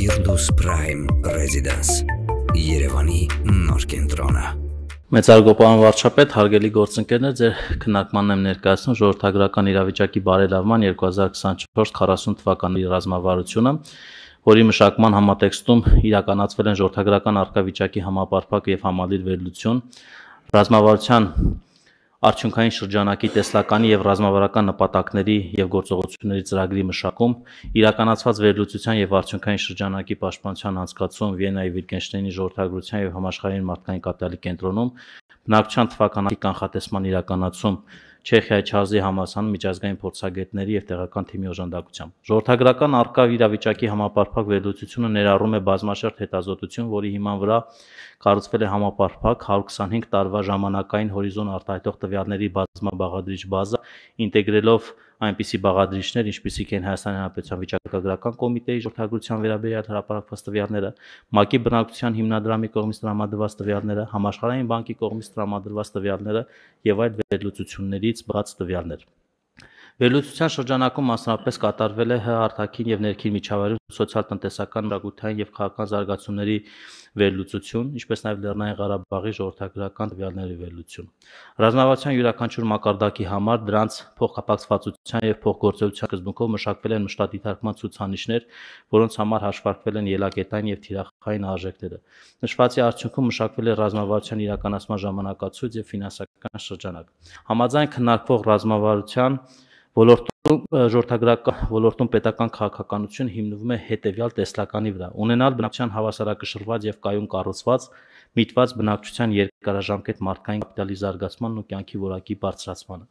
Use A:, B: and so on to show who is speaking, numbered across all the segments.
A: Firdaus Prime Residence Երևանի նոր կենտրոնը
B: Մեծարգոպարան վարչապետ, հարգելի գործընկերներ, ձեր քննարկմանն եմ ներկայացնում ժողովրդագրական իրավիճակի բարելավման 2024-40 թվականի ռազմավարությունը, որի մշակման համատեքստում իրականացվել են ժողովրդագրական արկավիճակի համապարփակ եւ համալիր վերլուծություն, ռազմավարության արդյունքային շրջանակի տեսլականի եւ ռազմավարական նպատակների եւ գործողությունների ծրագրի մշակում, իրականացված վերլուծության եւ արդյունքային շրջանակի պաշտպանության անցկացում Վիեննայի Վիտգենշտեյնի ժողովրդագրության եւ համաշխարհային մարդկային կապիտալի կենտրոնում, բնակչության թվականակի կանխատեսման իրականացում Չեխիայի Չազի համալսարանում միջազգային փորձագետների եւ տեղական թիմի օժանդակությամբ։ Ժողովրդագրական արկա իրավիճակի համապարփակ վերլուծությունը ներառում է բազմաշերտ հետազոտություն, որի հիման վրա կառուցվել է համապարփակ 125 տարվա ժամանակային հորիզոն արտահայտող տվյալների բազմաբաղադրիչ բազա, ինտեգրելով այնպիսի բաղադրիչներ, ինչպիսիք են Հայաստանի Հանրապետության վիճակագրական կոմիտեի ժողովրդագրության վերաբերյալ հրապարակված տվյալները, ՄԱԿ-ի բնակչության հիմնադրամի կողմից տրամադրված տվյալները, Համաշխարհային բանկի կողմից տրամադրված տվյալները եւ այլ վերլուծություններից բաց տվյալներ։ Վերլուծության շրջանակում մասնավորապես կատարվել է ՀՀ արտաքին եւ ներքին միջավայրում սոցիալ-տնտեսական, մշակութային եւ քաղաքական զարգացումների վերլուծություն, ինչպես նաեւ Լեռնային Ղարաբաղի ժողովրդագրական տվյալների վերլուծություն։ Ռազմավարության յուրաքանչյուր մակարդակի համար դրանց փոխկապակցվածության եւ փոխգործելիության սկզբունքով մշակվել են մշտադիտարկման ցուցանիշներ, որոնց համար հաշվարկվել են ելակետային եւ թիրախային արժեքները։ Նշվածի արդյունքում մշակվել է ռազմավարության իրականացման ժամանակացույց եւ ֆինանսական շրջանակ։ Համաձայն քննարկվող ռազմավարության ժողովրդագրական ոլորտում պետական քաղաքականություն հիմնվում է հետևյալ տեսլականի վրա. ունենալ բնակչության հավասարակշռված եւ կայուն կառուցված, միտված բնակչության երկարաժամկետ մարդկային կապիտալի զարգացմանն ու կյանքի որակի բարձրացմանը։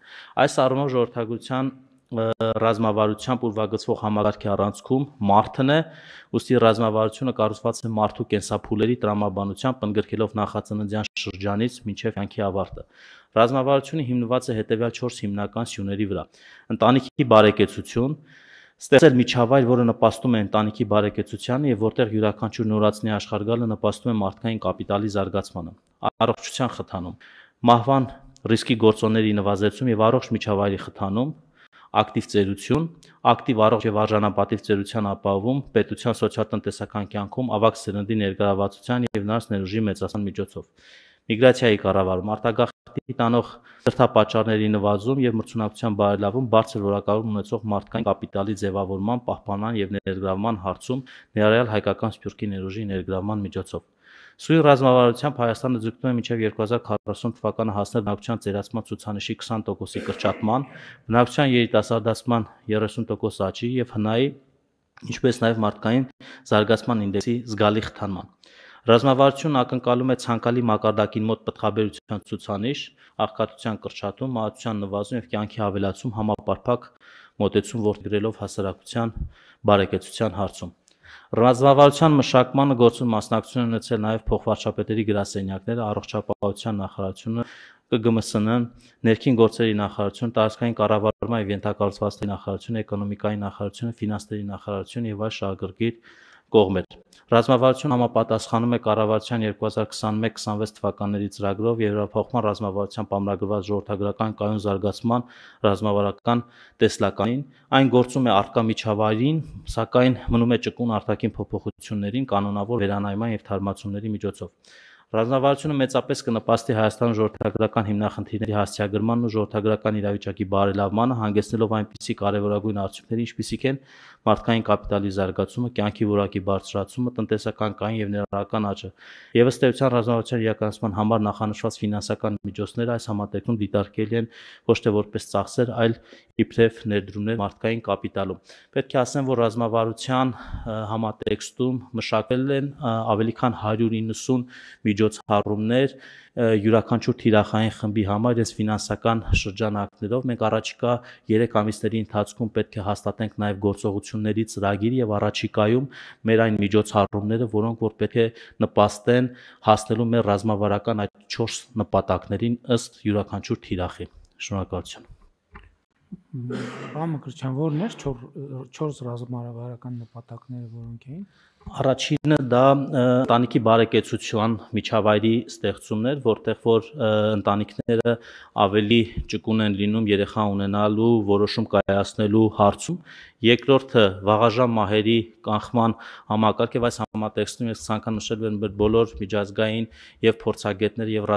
B: Այս առումով ժողովրդագրության ռազմավարությամբ ուրվագծվող համակարգի առանցքում մարդն է, ուստի ռազմավարությունը կառուցված է մարդու կենսափուլերի տրամաբանությամբ, ընդգրկելով նախածննդյան շրջանից մինչև կյանքի ավարտը։ Ռազմավարությունը հիմնված է հետևյալ 4 հիմնական սյուների վրա. ընտանիքի բարեկեցություն, ստեղծել միջավայր, որը նպաստում է ընտանիքի բարեկեցությանը եւ որտեղ յուրաքանչյուր նորածնի աշխարհ գալը նպաստում է մարդկային կապիտալի զարգացմանը, առողջության խթանում, մահվան ռիսկի գործոնների նվազեցում եւ առողջ միջավայրի խթանում, ակտիվ ծերություն, ակտիվ առողջ եւ արժանապատիվ ծերության ապահովում, պետության սոցիալ-տնտեսական կյանքում ավագ սերնդի ներգրավվածության եւ նրանց ներուժի մեծացման միջոցով, միգրացիայի կառավարում, արտագաղթի տանող դրդապատճառների նվազում եւ մրցունակության բարելավում, բարձր որակավորում ունեցող մարդկային կապիտալի ձևավորման, պահպանման եւ ներգրավման հարցում, ներառյալ հայկական սփյուռքի ներուժի ներգրավման միջոցով։ Սույն ռազմավարությամբ Հայաստանը ձգտում է մինչև 2040 թվականը հասնել բնակչության ծերացման ցուցանիշի 20%-ի կրճատման, բնակչության երիտասարդացման 30% աճի եւ ՀՆԱ-ի, ինչպես նաեւ մարդկային զարգացման ինդեքսի զգալի խթանման։ Ռազմավարությունն ակնկալում է ցանկալի մակարդակին մոտ պտղաբերության ցուցանիշ, աղքատության կրճատում, մահացության նվազում եւ կյանքի ավելացում համապարփակ մոտեցում որդեգրելով հասարակության բարեկեցության հարցում։ Ռազմավարության մշակմանը գործում մասնակցություն են ունեցել նաեւ փոխվարչապետերի գրասենյակները, առողջապահության նախարարությունը, ԿԳՄՍՆ-ն, ներքին գործերի նախարարությունը, տարածքային կառավարման եւ ենթակառուցվածքների նախարարությունը, էկոնոմիկայի նախարարությունը, ֆինանսների նախարարությունը եւ այլ շահագրգիռ կողմեր։ Ռազմավարությունը համապատասխանում է կառավարության 2021-26 թվականների ծրագրով Եվրափոխման ռազմավարությամբ ամրագրված ժողովրդագրական կայուն զարգացման ռազմավարական տեսլականին, այն գործում է առկա միջավայրին, սակայն մնում է ճկուն արտաքին փոփոխություններին, կանոնավոր վերանայման եւ թարմացումների միջոցով։ Ռազմավարությունը մեծապես կնպաստի Հայաստանում ժողովրդագրական հիմնախնդիրների հասցեագրմանն ու ժողովրդագրական իրավիճակի բարելավմանը, հանգեցնելով այնպիսի կարևորագույն արդյունքների, ինչպիսիք են մարդկային կապիտալի զարգացումը, կյանքի որակի բարձրացումը, տնտեսական կային եւ ներառական աճը։ Եվ ըստ էության ռազմավարության իրականացման համար նախանշված ֆինանսական միջոցները այս համատեքստում դիտարկելի են ոչ թե որպես ծախսեր, այլ իբրև ներդրումներ մարդկային կապիտալում։ Պետք է ասեմ, որ ռազմավարության համատեքստում մշակվել են ավելի քան 190 միջոցառումներ յուրաքանչյուր թիրախային խմբի համար այս ֆինանսական շրջանակներով։ Մենք առաջիկա 3 ամիսների ընթացքում պետք է հաստատենք նաև գործողությունների ծրագիր եւ առաջիկայում մեր այն միջոցառումները, որոնք որ պետք է նպաստեն հասնելու մեր ռազմավարական այդ 4 նպատակներին ըստ յուրաքանչյուր թիրախի։ Շնորհակալություն։
C: Մկրտչյան որն էր 4 ռազմավարական նպատակները, որոնք էին։
B: Առաջինը դա ընտանիքի բարեկեցության միջավայրի ստեղծումն էր, որտեղ որ ընտանիքները ավելի ճկուն են լինում երեխա ունենալու, որոշում կայացնելու հարցում։ Երկրորդը վաղաժամ մահերի կանխման համակարգ եւ այս համատեքստում ես ցանկանում նշել եմ բոլոր միջազգային եւ փորձագետներ եւ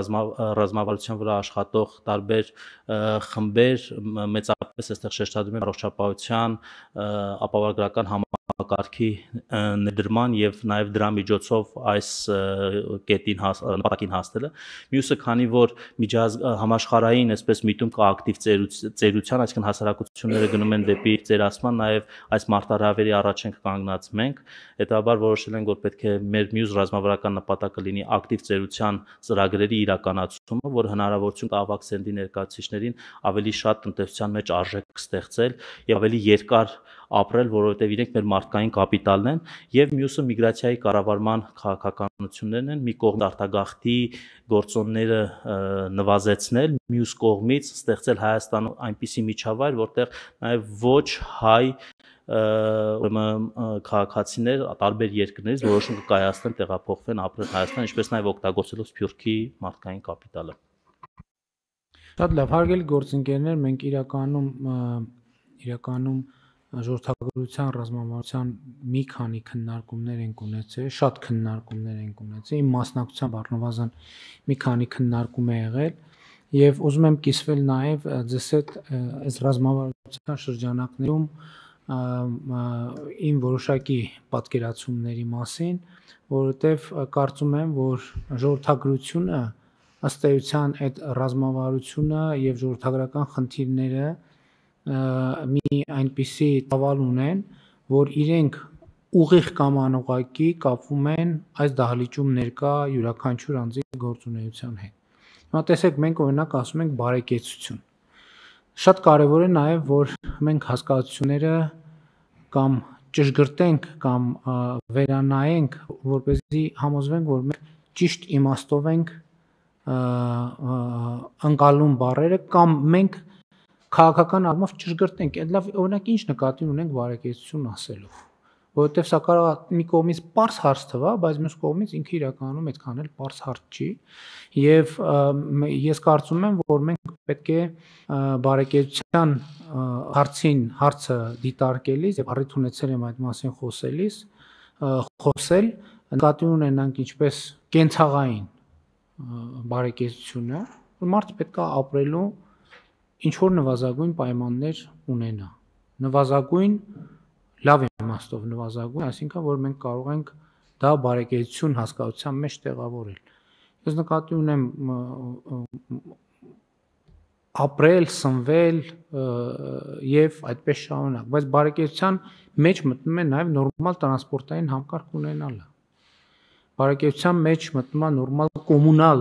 B: ռազմավարության վրա աշխատող տարբեր խմբեր մեծապես այստեղ շեշտադրում են առողջապահության ապահովագրական համակարգի ներդրման եւ նաեւ դրա միջոցով այս կետին նպատակին հասնելը։ Մյուսը, քանի որ համաշխարհային այսպես միտում կա ակտիվ ծերության, այսինքն հասարակությունները գնում են դեպի ծերացման, նաեւ այս մարտահրավերի առաջ ենք կանգնած մենք, հետաբար որոշել ենք, որ պետք է մեր մյուս ռազմավարական նպատակը լինի ակտիվ ծերության ծրագրերի իրականացումը, որ հնարավորություն տա ավագ սերնդի ներկայացուցիչներին ավելի շատ տնտեսության մեջ արժեք ստեղծել եւ ավելի երկար ապրել, որովհետեւ իրենք մեր մարդկային կապիտալն են, եւ մյուսը միգրացիայի կառավարման քաղաքականություններն են, մի կողմ արտագաղթի գործոնները նվազեցնել, մյուս կողմից ստեղծել Հայաստանում այնպիսի միջավայր, որտեղ նաեւ ոչ հայ քաղաքացիներ տարբեր երկրներից որոշում կկայացնեն տեղափոխվեն ապրել Հայաստան, ինչպես նաեւ օգտագործելով Սփյուռքի մարդկային կապիտալը։
C: Շատ լավ, հարգելի գործընկերներ, մենք իրականում ժողովրդագրության ռազմավարության մի քանի քննարկումներ ենք ունեցել, շատ քննարկումներ ենք ունեցել, իմ մասնակցությամբ առնվազն մի քանի քննարկում է եղել եւ ուզում եմ կիսվել նաեւ ձեզ հետ այս ռազմավարության շրջանակներում իմ որոշակի պատկերացումների մասին, որովհետեւ կարծում եմ, որ ժողովրդագրությունը ըստ էության այդ ռազմավարությունը եւ ժողովրդագրական խնդիրները մի այնպիսի տավալ ունեն, որ իրենք ուղիղ կամ անուղղակի կապվում են այս դահլիճում ներկա յուրաքանչյուր անձի գործունեության հետ։ Հիմա տեսեք, մենք օրինակ ասում ենք բարեկեցություն։ Շատ կարևոր է նաեւ, որ մենք հասկացությունները կամ ճշգրտենք կամ վերանայենք, որպեսզի համոզվենք, որ մենք ճիշտ իմաստով ենք ընկալում բառերը կամ մենք քաղաքական առումով ճշգրտենք, այդ լավ օրինակ ինչ նկատի ունենք բարեկեցություն ասելով, որովհետև սա կարող է մի կողմից պարզ հարց թվա, բայց մյուս կողմից ինքը իրականում այդքան էլ պարզ հարց չի, եւ ես կարծում եմ, որ մենք պետք է բարեկեցության հարցը դիտարկելիս եւ առիթ ունեցել եմ այդ մասին խոսել, նկատի ունենանք ինչպես կենցաղային բարեկեցությունը, որ մարդը պետք է ապրելու ինչ որ նվազագույն պայմաններ ունենա, նվազագույն լավ իմաստով նվազագույն, այսինքն որ մենք կարող ենք դա բարեկեցություն հասկացության մեջ տեղավորել։ Ես նկատի ունեմ ապրել, սնվել եւ այդպես շարունակ, բայց բարեկեցության մեջ մտնում է նաեւ նորմալ տրանսպորտային համակարգ ունենալը։ Բարեկեցության մեջ մտնում է նորմալ կոմունալ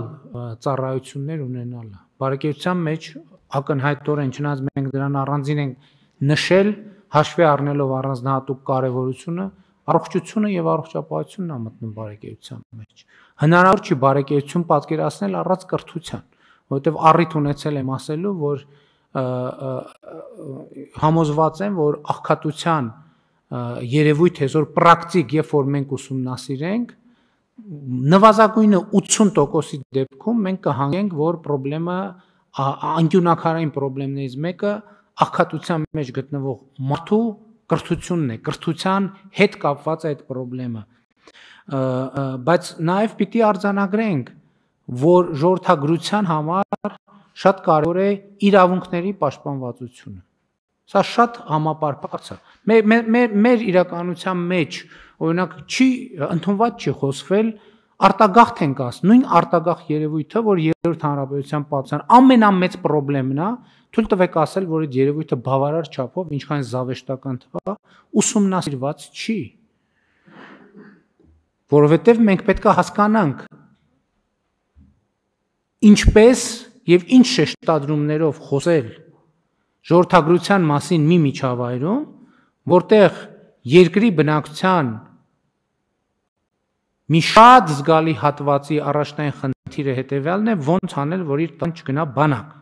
C: ծառայություններ ունենալը։ Բարեկեցության մեջ ակնհայտորեն չնայած մենք դրան առանձին ենք նշել, հաշվի առնելով առանձնահատուկ կարևորությունը, առողջությունը եւ առողջապահությունն է մտնում բարեկեցության մեջ։ Հնարավոր չի բարեկեցություն պատկերացնել առանց կրթության, որովհետեւ առիթ ունեցել եմ ասելու, որ համոզված եմ, որ աղքատության երևույթ այսօր պրակտիկ, երբ որ մենք ուսումնասիրենք, նվազագույնը 80%-ի դեպքում մենք կհանգենք, որ խնդրեմը անկյունակարային խնդիրներից մեկը աղքատության մեջ գտնվող մարդու կրթությունն է, կրթության հետ կապված է այդ խնդրեմը։ Բայց նաև պիտի արձանագրենք, որ ժողովրդագրության համար շատ կարևոր է իրավունքների պաշտպանվածությունը։ Սա շատ համապարփակ է։ Մեր իրականության մեջ, օրինակ, ընդունված չի խոսվել, արտագաղթ ենք ասում, նույն արտագաղթ երևույթը, որ երրորդ հանրապետության պատմության ամենամեծ խնդիրն է, թույլ տվեք ասել, որ այդ երևույթը բավարար չափով, ինչքան զավեշտական թվա, ուսումնասիրված չի։ Որովհետև մենք պետք է հասկանանք ինչպես եւ ինչ շեշտադրումներով խոսել ժողովրդագրության մասին մի միջավայրում, որտեղ երկրի բնակչության մի շատ զգալի հատվածի առաջնային խնդիրը հետևյալն է, ոնց անել, որ իր տան չգնա բանակ։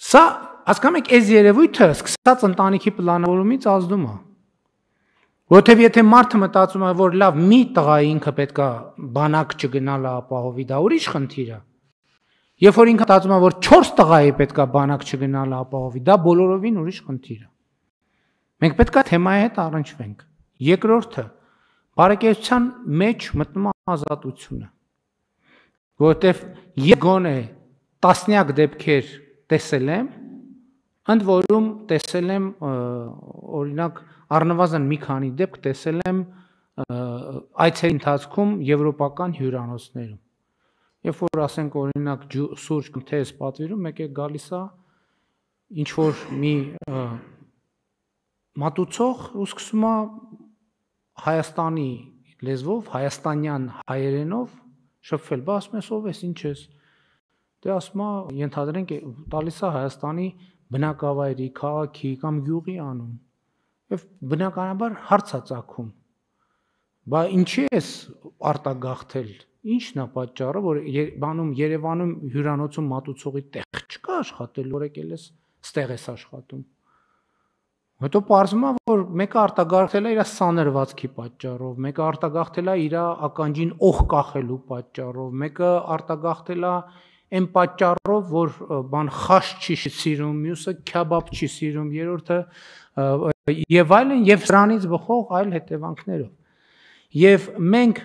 C: Սա Հասկանում եք, այս երևույթը սկսած ընտանիքի պլանավորումից ազդում է։ Որովհետև եթե մարդը մտածում է, որ լավ մի տղայի ինքը պետքա բանակ չգնալ ապահովի, դա ուրիշ խնդիր է։ Երբ որ ինքը մտածում է, որ 4 տղայի պետքա բանակ չգնալ ապահովի, դա բոլորովին ուրիշ խնդիր է։ Մենք պետքա թեմայի հետ առնչվենք։ Երկրորդը, բարեկեցության մեջ մտնում է ազատությունը։ Որովհետև գոնե տասնյակ դեպքեր տեսել եմ, ընդ որում տեսել եմ օրինակ առնվազն մի քանի դեպք տեսել եմ այցերի ընթացքում եվրոպական հյուրանոցներում։ Երբ որ ասենք օրինակ սուրճ թեզ պատվիրում, մեկ է գալիս է ինչ որ մի մատուցող ու սկսում է Հայաստանի լեզվով, հայաստանյան հայերենով շփվել, բա ասում ես ով ես, ինչ ես։ Դե ասում է, ենթադրենք տալիս է Հայաստանի բնակավայրի, քաղաքի կամ գյուղի անուն։ Եվ բնականաբար հարց է ծագում։ Բա ինչի ես արտագաղթել։ Ինչն է պատճառը, որ Երևանում հյուրանոցում մատուցողի տեղ չկա աշխատել, որ եկել ես ստեղ ես աշխատում։ Հետո պարզվում է, որ մեկը արտագաղթել է իր սաներվածքի պատճառով, մեկը արտագաղթել է իր ականջին օղ կախելու պատճառով, մեկը արտագաղթել է այն պատճառով, որ բան խաշ չի սիրում, մյուսը քյաբաբ չի սիրում, երրորդը եւ այլն, եւ սրանից բխող այլ հետևանքներով։ Եվ մենք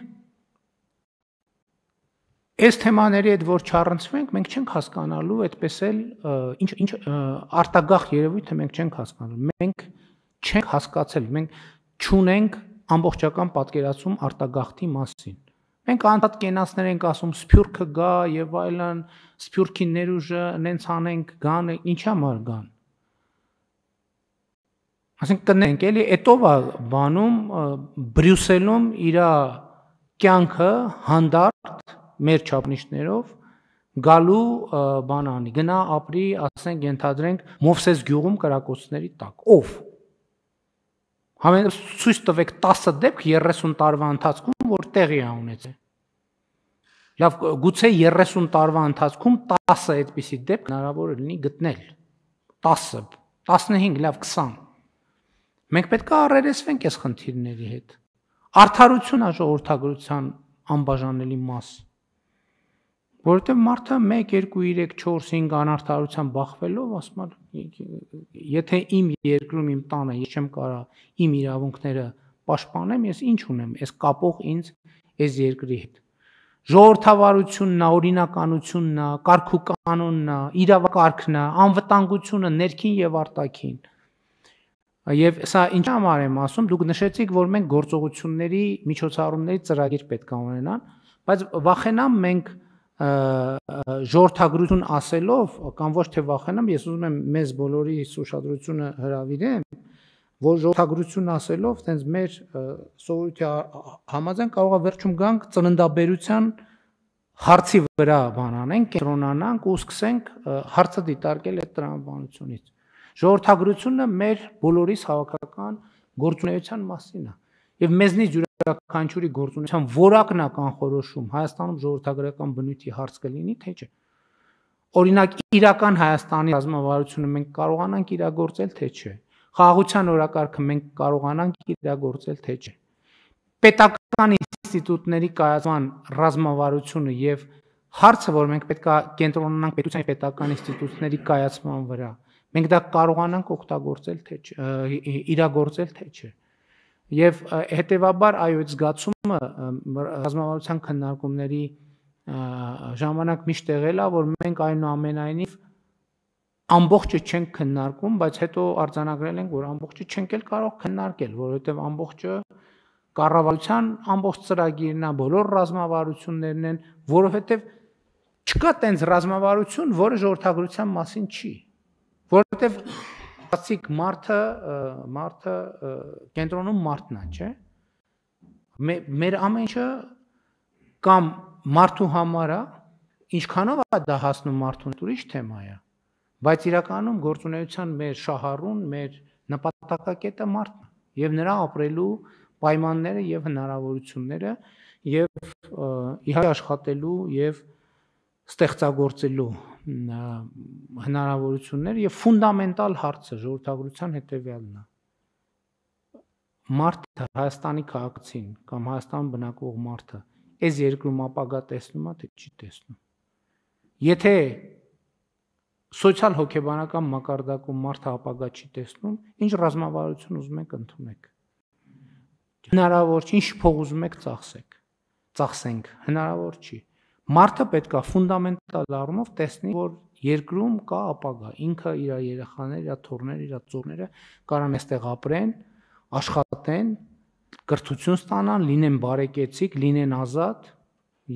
C: այս թեմաների հետ որ չառնցվենք, մենք չենք հասկանալու այդպես էլ ինչ արտագաղթ երևույթը մենք չենք հասկանալու։ Մենք չենք հասկացել, մենք չունենք ամբողջական պատկերացում արտագաղթի մասին։ Մենք անդադ կենացներ ենք ասում, սփյուռքը գա եւ այլն, սփյուռքի ներուժը նենց անենք, գան, ինչ համար գան։ Ասենք կնենք էլի, էտով է բանում Բրյուսելում իր կյանքը հանդարտ մեր չափնիշներով գալու բանանի, գնա ապրի, ասենք ենթադրենք Մովսես գյուղում կրակոցների տակ։ Ով։ Համենայն ցույց տվեք 10 դեպք 30 տարվա ընթացքում, որ տեղի է ունեցել։ Լավ, գուցե 30 տարվա ընթացքում 10 այդպիսի դեպք հնարավոր է լինի գտնել։ 10, 15, լավ 20։ Մենք պետք է առերեսվենք այս խնդիրների հետ։ Արդարությունն է ժողովրդագրության անբաժանելի մաս։ Որովհետև մարդը 1, 2, 3, 4, 5 անարդարության բախվելով ասում է, եթե իմ երկրում իմ տանը ես չեմ կարա իմ իրավունքները պաշտպանեմ, ես ինչ ունեմ, ես կապող ինձ այս երկրի հետ։ Ժողովրդավարությունն է, օրինականությունն է, կարգուկանոնն է, իրավակարգն է, անվտանգությունը ներքին եւ արտաքին։ Եվ սա ինչ համար եմ ասում, դուք նշեցիք, որ մենք գործողությունների միջոցառումների ծրագիր պետք է ունենան, բայց վախենամ մենք ժողովրդագրություն ասելով, կամ ոչ թե վախենամ, ես ուզում եմ մեզ բոլորի ուշադրությունը հրավիրեմ, որ ժողովրդագրություն ասելով, տենց մեր սովորույթի համաձայն կարող է վերջում գանք ծննդաբերության հարցի վրա բանանենք, կենտրոնանանք ու սկսենք հարցը դիտարկել այդ տրամաբանությունից։ Ժողովրդագրությունը մեր բոլորիս հավաքական գործունեության մասին է։ Եվ մեզնից յուրաքանչյուրի գործունեության որակն է կանխորոշում Հայաստանում ժողովրդագրական բնույթի հարց կլինի, թե չէ։ Օրինակ իրական Հայաստանի ռազմավարությունը մենք կարողանանք իրագործել, թե չէ։ Խաղաղության օրակարգը մենք կարողանանք իրագործել, թե չէ։ Պետական ինստիտուտների կայացման ռազմավարությունը եւ հարցը, որ մենք պետք է կենտրոնանանք պետության պետական ինստիտուտների կայացման վրա, մենք դա կարողանանք օգտագործել, թե չէ, իրագործել, թե չէ։ Եվ հետևաբար այո, այդ զգացումը ռազմավարության քննարկումների ժամանակ միշտ եղել է, որ մենք այնուամենայնիվ ամբողջը չենք քննարկում, բայց հետո արձանագրել ենք, որ ամբողջը չենք էլ կարող քննարկել, որովհետև ամբողջը կառավարության ամբողջ ծրագիրն է, բոլոր ռազմավարություններն են, որովհետև չկա տենց ռազմավարություն, որը ժողովրդագրության մասին չի, որովհետև ասիկ մարդը կենտրոնում մարդն է, չէ։ Մեր ամեն ինչը կամ մարդու համար է, ինչքանով է դա հասնում մարդուն, ուրիշ թեմա է, բայց իրականում գործունեության մեր շահառուն, մեր նպատակակետը մարդն է եւ նրա ապրելու պայմանները եւ հնարավորությունները եւ իհարկե աշխատելու եւ ստեղծագործելու հնարավորություններ եւ ֆունդամենտալ հարցը ժողովրդագրության հետեւյալն է։ Մարդը Հայաստանի քաղաքացին կամ Հայաստան բնակվող մարդը այս երկրում ապագա տեսնում է, թե չի տեսնում։ Եթե սոցիալ հոգեբանական մակարդակում մարդը ապագա չի տեսնում, ինչ ռազմավարություն ուզում եք ընդունեք։ Հնարավոր չի, ինչ փող ուզում եք ծախսենք, հնարավոր չի։ Մարդը պետք է ֆունդամենտալ առումով տեսնի, որ երկրում կա ապագա, ինքը իր երեխաները, իր թոռները, իր ծոռները կարան այստեղ ապրեն, աշխատեն, կրթություն ստանան, լինեն բարեկեցիկ, լինեն ազատ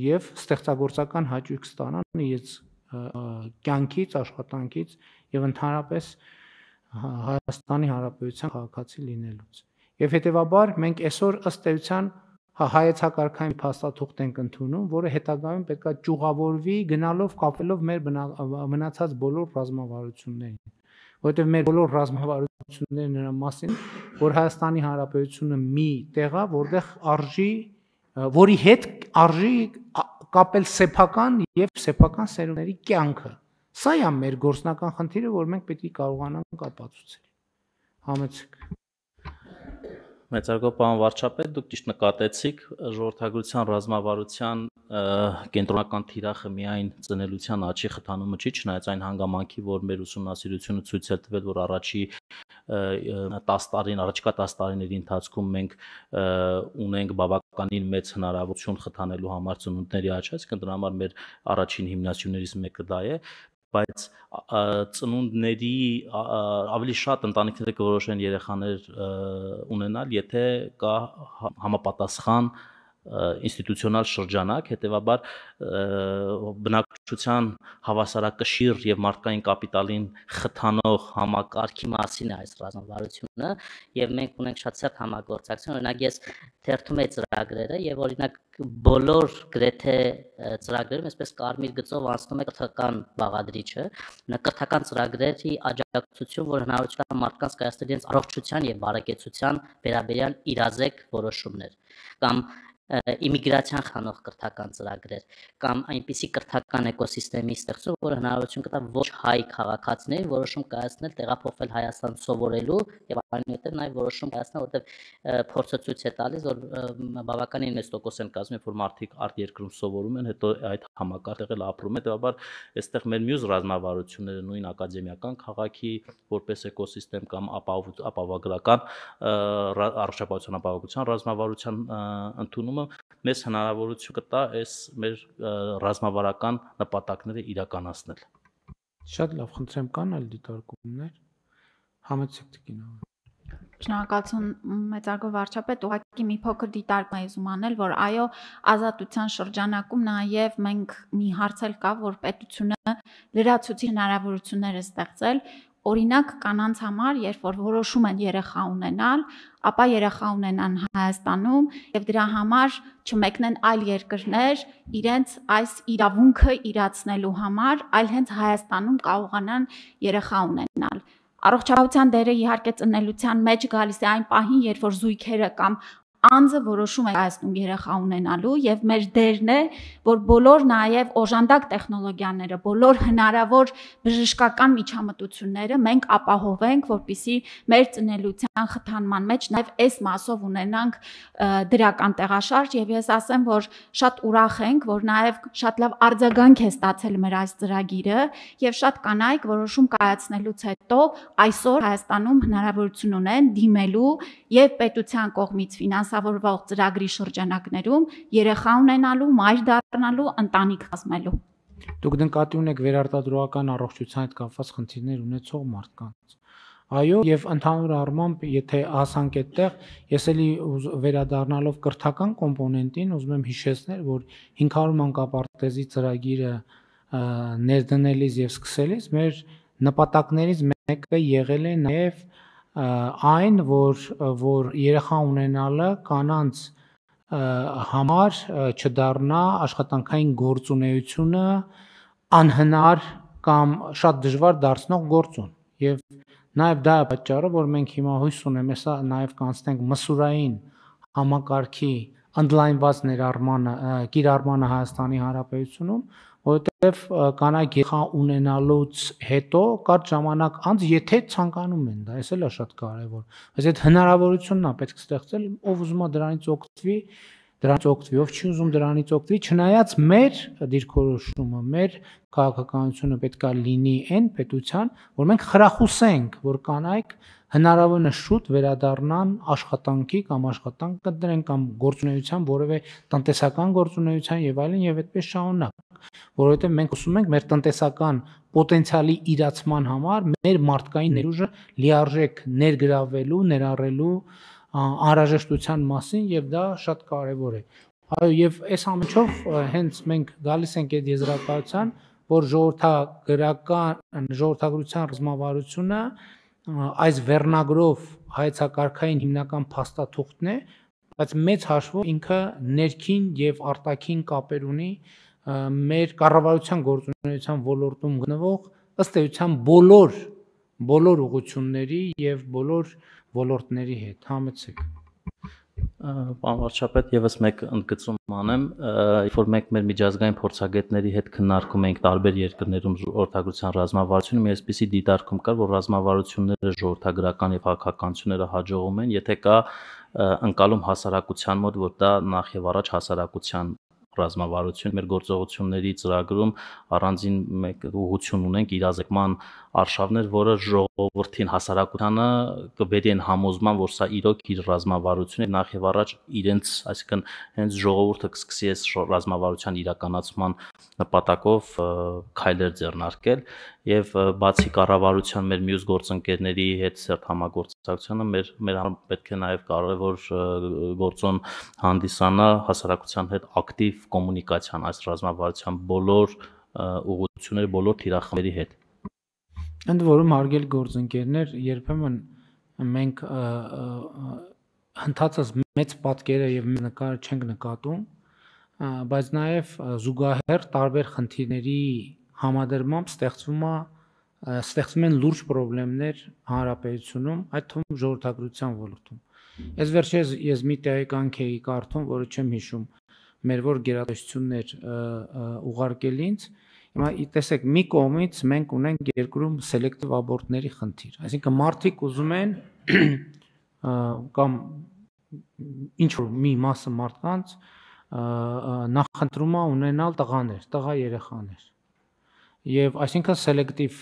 C: եւ ստեղծագործական հաճույք ստանան իրենց կյանքից, աշխատանքից եւ ընդհանրապես Հայաստանի Հանրապետության քաղաքացի լինելուց։ Եվ հետեւաբար մենք այսօր ըստ էության հայեցակարգային փաստաթուղթ ենք ընդունում, որը հետագայում պետք է ճյուղավորվի գնալով կապելով մեր մնացած բոլոր ռազմավարություններին, որովհետև մեր բոլոր ռազմավարությունները նրա մասին, որ Հայաստանի Հանրապետությունը մի տեղ է, որտեղ որի հետ արժի կապել սեփական եւ սեփական սերունդների կյանքը։ Սա է մեր գործնական խնդիրը, որ մենք պետք է կարողանանք ապացուցել։ Համեցեք։
B: Մեծարգո պարոն վարչապետ, դուք ճիշտ նկատեցիք ժողովրդագրության ռազմավարության կենտրոնական թիրախը միայն ծնելության աճի խթանումը չի, չնայած այն հանգամանքի, որ մեր ուսումնասիրությունը ցույց է տվել, որ առաջիկա 10 տարիների ընթացքում մենք ունենք բավականին մեծ հնարավորություն խթանելու համար ծնունդների աճ, այսինքն դրա համար մեր առաջին հիմնասյուներից մեկը դա է, բայց ծնունդների ավելի շատ ընտանիքները կորոշեն երեխաներ ունենալ, եթե կա համապատասխան ինստիտուցիոնալ շրջանակ, հետևաբար բնակչության հավասարակշիռ եւ մարդկային կապիտալին խթանող համակարգի մասին է այս ռազմավարությունը եւ մենք ունենք շատ սերտ համագործակցություն, օրինակ ես թերթում եմ ծրագրերը եւ օրինակ բոլոր գրեթե ծրագրերում այսպես կարմիր գծով անցնում է կրթական բաղադրիչը, կրթական ծրագրերի աջակցություն, որ հնարավորություն կա մարդկանց կայացնել իրենց առողջության եւ բարեկեցության վերաբերյալ իրազեկ որոշումներ, կամ իմիգրացիան խանող կրթական ծրագրեր, կամ այնպիսի կրթական էկոսիստեմի ստեղծում, որը հնարավորություն կտա ոչ հայ քաղաքացիներին որոշում կայացնել, տեղափոխվել Հայաստան սովորելու եւ այնուհետեւ նաեւ որոշում կայացնել, որտեղ փորձը ցույց է տալիս, որ բավականին մեծ տոկոս են կազմում, որ մարդիկ արտերկրում սովորում են, հետո այդ համակարգը էլ ապրում է, դեպաբար այստեղ մեր մյուս ռազմավարությունները նույն ակադեմիական քաղաքի որպես էկոսիստեմ կամ ապահովագրական առողջապահության ապահովության ռազմավարության ընդունումը մեզ հնարավորություն կտա այս մեր ռազմավարական նպատակները իրականացնել։
C: Շատ լավ, խնդրեմ, կան այլ դիտարկումներ։ Համեցեք տիկինով։
D: Շնորհակալություն մեծարգո վարչապետ, ուղղակի մի փոքր դիտարկում եմ ուզում անել, որ այո, ազատության շրջանակում նաև մենք մի հարց էլ կա, որ պետությունը լրացուցիչ հնարավորություններ է ստեղծել, օրինակ կանանց համար, երբ որ որոշում են երեխա ունենալ, ապա երեխա ունենան Հայաստանում եւ դրա համար չմեկնեն այլ երկրներ իրենց այս իրավունքը իրացնելու համար, այլ հենց Հայաստանում կարողանան երեխա ունենալ։ Առողջապահության դերը իհարկե ծնելության մեջ գալիս է այն պահին, երբ որ զույգերը կամ անձը որոշում է կայացնում երեխա ունենալու եւ մեր դերն է, որ բոլոր նաեւ օժանդակ տեխնոլոգիաները, բոլոր հնարավոր բժշկական միջամտությունները մենք ապահովենք, որպեսզի մեր ծնելության խթանման մեջ նաեւ այս մասով ունենանք դրական տեղաշարժ եւ ես ասեմ, որ շատ ուրախ ենք, որ նաեւ շատ լավ արձագանք է ստացել մեր այս ծրագիրը եւ շատ կանայք որոշում կայացնելուց հետո այսօր Հայաստանում հնարավորություն ունեն դիմելու եւ պետության կողմից ֆինանսավորվող ծրագրի շրջանակներում երեխա ունենալու, մայր դառնալու, ընտանիք կազմելու։
C: Դուք նկատի ունեք վերարտադրողական առողջության հետ կապված խնդիրներ ունեցող մարդկանց։ Այո, եւ ընդհանուր առմամբ, եթե հասանք այդտեղ, ես էլի վերադառնալով կրթական կոմպոնենտին, ուզում եմ հիշեցնել, որ 500 մանկապարտեզի ծրագիրը ներդնելիս եւ սկսելիս մեր նպատակներից մեկը եղել է նաեւ այն, որ երեխա ունենալը կանանց համար չդառնա աշխատանքային գործունեությունը անհնար կամ շատ դժվար դարձնող գործոն։ Եվ նաև դա է պատճառը, որ մենք հիմա հույս ունեմ, հեսա նաև կանցնենք մսուրային համակարգի ընդլայնված ներառմանը, կիրառմանը Հայաստանի Հանրապետությունում, որովհետև կանայք երեխա ունենալուց հետո կարճ ժամանակ անց եթե ցանկանում են, դա էս էլ է շատ կարևոր։ Բայց այդ հնարավորությունն է պետք ստեղծել, ով ուզում է դրանից օգտվի, ով չի ուզում դրանից օգտվի, չնայած մեր դիրքորոշումը, մեր քաղաքականությունը պետք է լինի այն պետության, որ մենք խրախուսենք, որ կանայք հնարավորինս շուտ վերադառնան աշխատանքի կամ աշխատանք կդրեն կամ գործունեության, որևէ տնտեսական գործունեության եւ այլն եւ այդպես շարունակ, որովհետեւ մենք ուզում ենք մեր տնտեսական պոտենցիալի իրացման համար մեր մարդկային ներուժը լիարժեք ներգրավելու, ներառելու անհրաժեշտության մասին եւ դա շատ կարեւոր է։ Այո, եւ այս ամենով հենց մենք գալիս ենք այդ եզրակացության, որ ժողովրդագրության ռազմավարությունը այս վերնագրով հայեցակարգային հիմնական փաստաթուղթն է, բայց մեծ հաշվով ինքը ներքին եւ արտաքին կապեր ունի մեր կառավարության գործունեության ոլորտում գտնվող ըստ էության բոլոր ուղղությունների եւ բոլոր ոլորտների հետ, համեցեք։
B: Պարոն վարչապետ, եւս մեկ ընդգծում անեմ, երբ որ մենք մեր միջազգային փորձագետների հետ քննարկում ենք տարբեր երկրներում ժողովրդագրության ռազմավարությունը, մի այսպիսի դիտարկում կար, որ ռազմավարությունները ժողովրդագրական եւ քաղաքականությունները հաջողում են, եթե կա ընկալում հասարակության մոտ, որ դա նախ եւ առաջ հասարակության ռազմավարություն մեր գործողությունների ծրագրում առանձին մեկ ուղղություն ունենք իրազեկման արշավներ, որը ժողովրդին հասարակությանը կբերի այն համոզման, որ սա իրոք իր ռազմավարությունն է, նախ եւ առաջ իրենց, այսինքն հենց ժողովուրդը կսկսի այս ռազմավարության իրականացման նպատակով քայլեր ձեռնարկել եւ բացի կառավարության մեր մյուս գործընկերների հետ սերտ համագործակցությունը մեր պետք է նաեւ կարեւոր գործոն հանդիսանա հասարակության հետ ակտիվ կոմունիկացիան այս ռազմավարության բոլոր ուղղությունների, բոլոր թիրախների հետ։
C: Ընդ որում հարգելի գործընկերներ, երբեմն մենք հնդածած մեծ պատկերը եւ նկարը չենք նկատում, բայց նաեւ զուգահեռ տարբեր խնդիրների համադրմամբ ստեղծվում են լուրջ խնդիրներ հանրապետությունում, այդ թվում ժողովրդագրության ոլորտում։ Այս վերջերս ես մի տեղեկանք էի կարդում, որը չեմ հիշում, մեր որ գերատեսչություններ ուղարկել ինձ։ Հիմա տեսեք, մի կողմից մենք ունենք երկրում սելեկտիվ աբորտների խնդիր, այսինքն մարդիկ ուզում են կամ ինչ որ մի մասը մարդկանց նախընտրում է ունենալ տղա երեխաներ։ Եվ այսինքն սելեկտիվ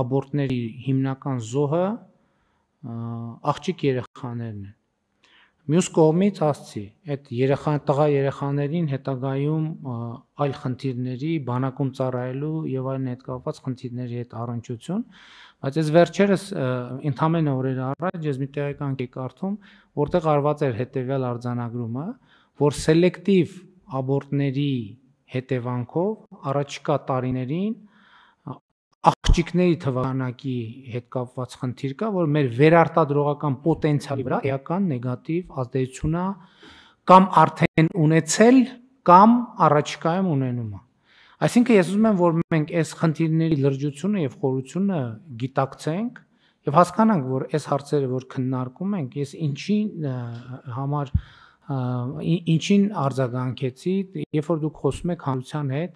C: աբորտների հիմնական զոհը աղջիկ երեխաներն են։ Մյուս կողմից ասցի, այդ տղա երեխաներին հետագայում այլ խնդիրների, բանակում ծառայելու եւ այլն հետ կապված խնդիրների հետ առնչություն, բայց այս վերջերս ընդամենը օրեր առաջ ես մի տեղեկանք էի կարդում, որտեղ արված էր հետեւյալ արձանագրումը, որ սելեկտիվ աբորտների հետևանքով առաջիկա տարիներին աղջիկների թվականակի հետ կապված խնդիր կա, որ մեր վերարտադրողական պոտենցիալի վրա էական նեգատիվ ազդեցություն է կամ արդեն ունեցել կամ առաջիկայում ունենում է։ Այսինքն ես ուզում եմ, որ մենք այս խնդիրների լրջությունը եւ խորությունը գիտակցենք եւ հասկանանք, որ այս հարցերը, որ քննարկում ենք, ես ինչին արձագանքեցի, երբ որ դուք խոսում եք հանրության հետ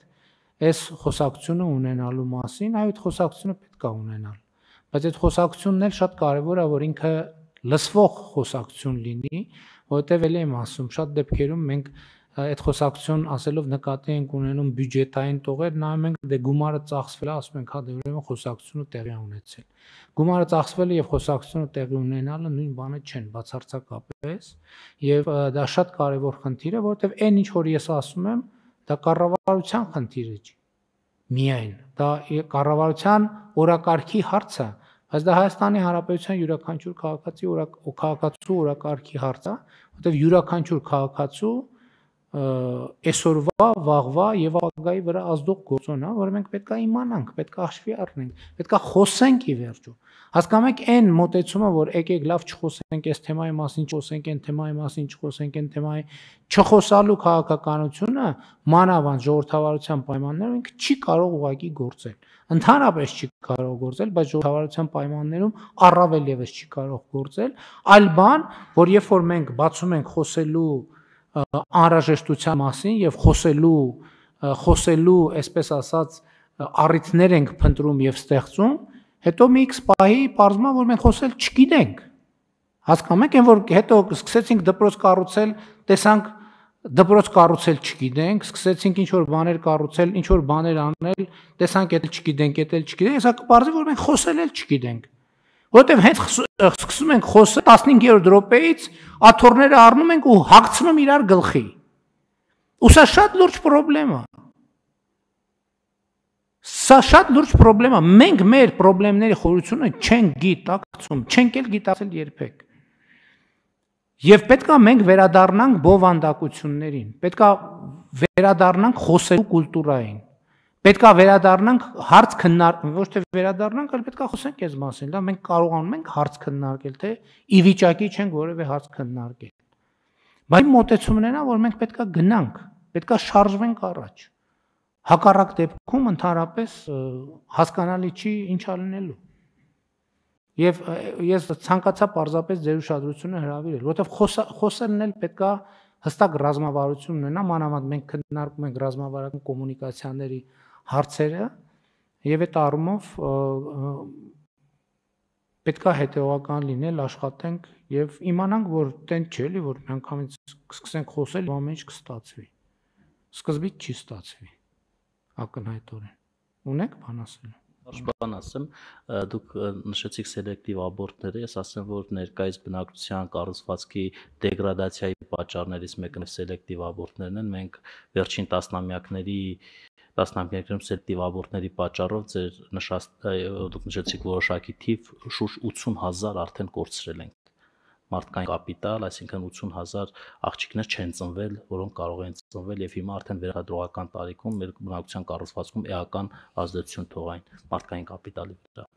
C: այս խոսակցությունը ունենալու մասին, այդ խոսակցությունը պետք է ունենալ, բայց այդ խոսակցությունն էլ շատ կարևոր է, որ ինքը լսվող խոսակցություն լինի, որովհետև էլ եմ ասում, շատ դեպքերում մենք այդ խոսակցություն ասելով նկատի ենք ունենում բյուջետային տողեր, նայում ենք դե գումարը ծախսվել է, ասում ենք հա դե ուրեմն խոսակցությունը տեղի ունեցել։ Գումարը ծախսվել է եւ խոսակցությունը տեղի ունենալը նույն բանը չեն, բացարձակապես, եւ դա շատ կարևոր խնդիր է, որովհետև այն ինչ որ ես ասում եմ, դա կառավարության խնդիրը չի։ Միայն դա կառավարության օրակարգի հարց է, բայց դա Հայաստանի Հանրապետության յուրաքանչյուր քաղաքացու օրակարգի հարց է, որովհետև յուրաքանչյուր քաղաքացու այսօրվա, վաղվա եւ ապագայի վրա ազդող գործոն է, որը մենք պետք է իմանանք, պետք է հաշվի առնենք, պետք է խոսենք ի վերջո։ Հասկանում եք այն մոտեցումը, որ եկեք լավ չխոսենք այս թեմայի մասին, չխոսենք այն թեմայի մասին, չխոսենք այն թեմայի, չխոսալու քաղաքականությունը մանավանդ ժողովրդավարության պայմաններում ինքը չի կարող ուղղակի գործել։ Ընդհանրապես չի կարող գործել, բայց ժողովրդավարության պայմաններում առավել եւս չի կարող գործել, այլ բան, որ երբ որ մենք բացում ենք խոսելու անհրաժեշտության մասին եւ խոսելու խոսելու, այսպես ասած, առիթներ ենք փնտրում եւ ստեղծում, հետո մի X պահի պարզվում է, որ մենք խոսել չգիտենք։ Հասկանում եք, որ հետո սկսեցինք դպրոց կառուցել, տեսանք դպրոց կառուցել չգիտենք, սկսեցինք ինչ որ բաներ կառուցել, ինչ որ բաներ անել, տեսանք էդ չգիտենք, հեսա կպարզի, որ մենք խոսել էլ չգիտենք։ Որտեւ հենց սկսում ենք խոսել 15-րդ րոպեից աթոռները առնում ենք ու հագցնում իրար գլխի։ Ու սա շատ լուրջ խնդրեմ է։ Սա շատ լուրջ խնդրեմ է։ Մենք մեր խնդիրների խորությունը չենք գիտակցում, չենք էլ գիտակցել երբեք։ Եվ պետքա մենք վերադառնանք բովանդակություններին, պետքա վերադառնանք խոսելու կուլտուրային, պետքա վերադառնանք հարց քննարկել, ոչ թե վերադառնանք, այլ պետքա խոսենք այս մասին, լավ, մենք կարողանում ենք հարց քննարկել, թե ի վիճակի չենք որևէ հարց քննարկել։ Բայց մոտեցումն է, որ մենք պետքա գնանք, պետքա շարժվենք առաջ։ Հակառակ դեպքում ընդհանրապես հասկանալի չի ինչ ալնելու։ Եվ ես ցանկացա պարզապես ձեր ուշադրությունը հրավիրել, որովհետև խոսելն էլ պետքա հստակ ռազմավարություն ունենա, մանավանդ մենք քննարկում ենք ռազմավարական կոմունիկացիաների հարցերը, եւ այդ առումով պետքա հետեւական լինել, աշխատենք եւ իմանանք, որ տեն չէ, էլի, որ միանգամից սկսենք խոսել, ամեն ինչ կստացվի։ Սկզբից չի ստացվի։ Ակնհայտորեն։ Ունեք բան ասել։
B: Բան ասեմ, դուք նշեցիք սելեկտիվ աբորտները, ես ասեմ, որ ներկայիս բնակչության կառուցվածքի դեգրադացիայի պատճառներից մեկը սելեկտիվ աբորտներն են։ Մենք վերջին տասնամյակներում սելեկտիվ աբորտների պատճառով դուք նշեցիք որոշակի թիվ, շուրջ 80,000 արդեն կորցրել ենք մարդկային կապիտալ, այսինքն 80,000 աղջիկներ չեն ծնվել, որոնք կարող են ծնվել եւ հիմա արդեն վերահադրողական տարիքում մեր բնակչության կառուցվածքում էական ազդեցություն թողային մարդկային կապիտալի վրա։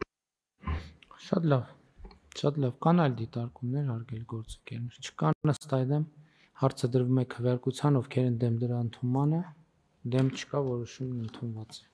C: Շատ լավ, կան այլ դիտարկումներ հարգելի գործընկերներ, չկան ըստ այդմ հարցը դրվում է քվեարկության, ովքեր են դեմ դրա ընդունմանը, դեմ չկա, որոշումն ընդունված է։